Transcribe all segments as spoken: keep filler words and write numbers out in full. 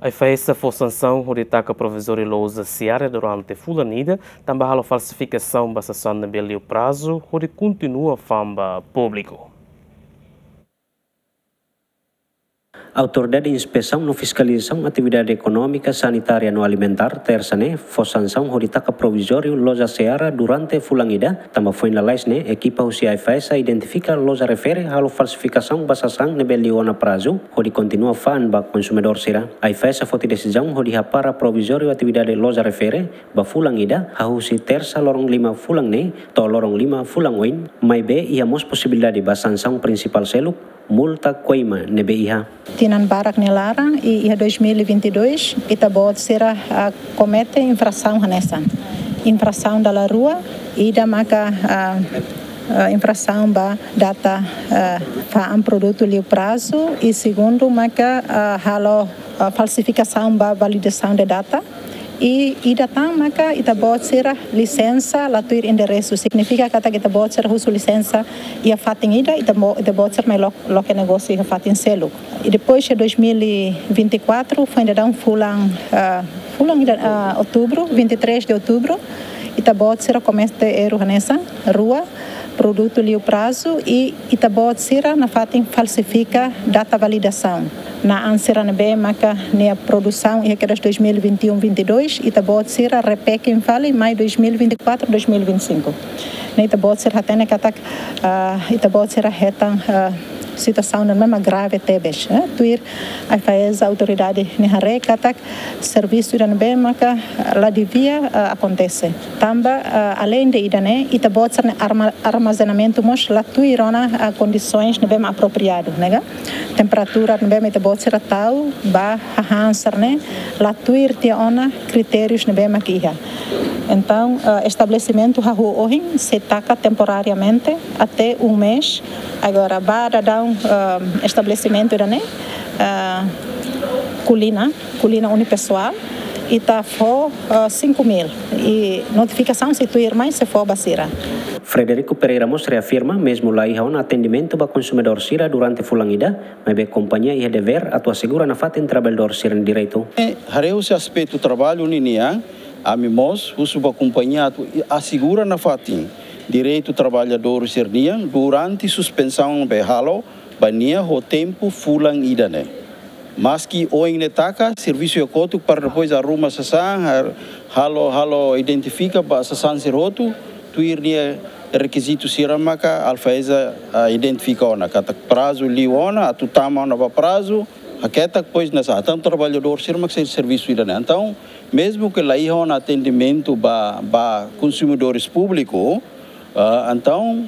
AIFAESA fó sansaun hodi taka provizóriu loja Seara durante fulan ida, tanba halo falsifikasaun ba sasán ne'ebé liu prazu, hodi kontinua fa'an ba públiku. Autoridade Inspesaun no Fiskalizasaun Atividade Ekonómika, Sanitária no Alimentár, Tersa ne'e, fó sansaun hodi taka provizóriu loja Seara durante fulan ida, tanba foin lalais ne'e, ekipa husi AIFAESA identifika loja refere halo falsifikasaun ba sasán ne'ebé liu ona prazu, hodi kontinua fa'an ba konsumidór sira. AIFAESA foti desizaun hodi hapara provizóriu atividade loja refere ba fulan ida, hahú husi Tersa loron lima fulan ne'e to'o loron lima fulan oin, maibé iha mós posibilidade ba sansaun prinsipál seluk, multa koima ne'ebé iha. Tinan barak nia laran, i iha dois mil e vinte e dois, ita-boot sira, ah, komete infrasaun hanesan. Infrasaun dala rua, ida maka, ah, ah, infrasaun ba data, ah, fa'an produtu liu prazu, i segundu maka, ah, halo, ah, falsifikasaun ba validasaun de data. I ida tan maka ita-boot sira lisensa la tuir enderesu. Signifika katak ita-boot sira husu lisensa iha fatin ida, ita-bo-, ita-boot sira mai lo-, loke negósiu iha fatin seluk. I depois de dois mil e vinte e quatro, foin daudaun fulan, ah, fulan ida, ah, outubro, vinte e três de outubro, ita-boot sira komete erru hanesan rua, produtu liu prazu, i ita-boot sira nafatin falsifika data validasaun. Na'an sira ne'ebé maka nia produsaun iha kedas dois mil e vinte e um, vinte e dois, ita-boot sira repack fali mai dois mil e vinte e quatro, dois mil e vinte e cinco. Ne'e ita-boot sira hatene katak, ah, ita-boot sira hetan, ah, situasaun ne'ebé mak grave tebes, eh? Tuir AIFAESA, autoridade nia haree katak servisu ida ne'ebé maka la devia, ah, akontese. Tanba, ah, aleinde ida-ne'e, ita-boot sira-nia arma-, armazenamentu mós la tuir ona, ah, kondisoens ne'ebé mak apropriadu, ne'e ka? Temperatura ne'ebé mak ita-boot sira tau ba hahán sira-ne'e la tuir tiha ona kritérius ne'ebé mak iha. Entaun, ah, estabelesimentu hahú ohin sei taka temporariamente até um mês. Agora, ba daudaun, ah, estabelesimentu ida-ne'e, ah, Kulina, Kulina Unipessoal, ita fó, ah, cinco mil. I notifikasaun sei tuir mai, sei fó ba sira. Frederico Pereira mós reafirma, mezmu la iha ona atendimentu ba konsumidór sira durante fulan ida, maibé kompañia iha devér atu asegura nafatin traballadór sira-nia direitu. Eh, haree husi aspetu traballu ninian, ami mós husu ba kompañia atu asegura nafatin direitu traballadór sira-nian durante suspensaun ne'ebé halo ba nia ho tempu fulan ida ne'e. Maski oin ne'e taka, servisu iha kotuk para depois arruma sasán, har-, halo, halo identifika ba sasán sira hotu, tuir nia rekizitu sira maka AIFAESA, ah, identifika ona, katak prazu liu ona, atu tama ona ba prazu, haketak depois nasa, entaun traballadór sira mak sei servisu ida ne'e. Entaun, mezmu ke la iha ona atendimentu ba, ba konsumidores públiku, ah, entaun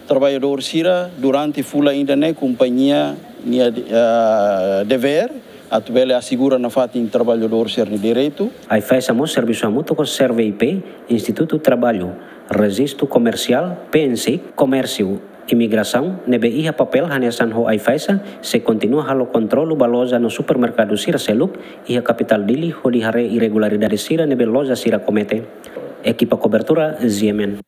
traballadór sira durante fulan ida ne'e kompañia nia, ah, devér atu bele asegura nafatin traballadór sira-nia direitu. AIFAESA mós servisu hamutuk ho SERVE I P, Institutu Traballu, Rejistu Komersiál, PNSIK, Komérsiu, Imigrasaun, ne'ebé iha papél hanesan ho AIFAESA, sei kontinua halo kontrolu ba loja no supermerkadu sira seluk iha kapitál Dili hodi haree irregularidade sira ne'ebé loja sira komete. Ekipa kobertura, G M N.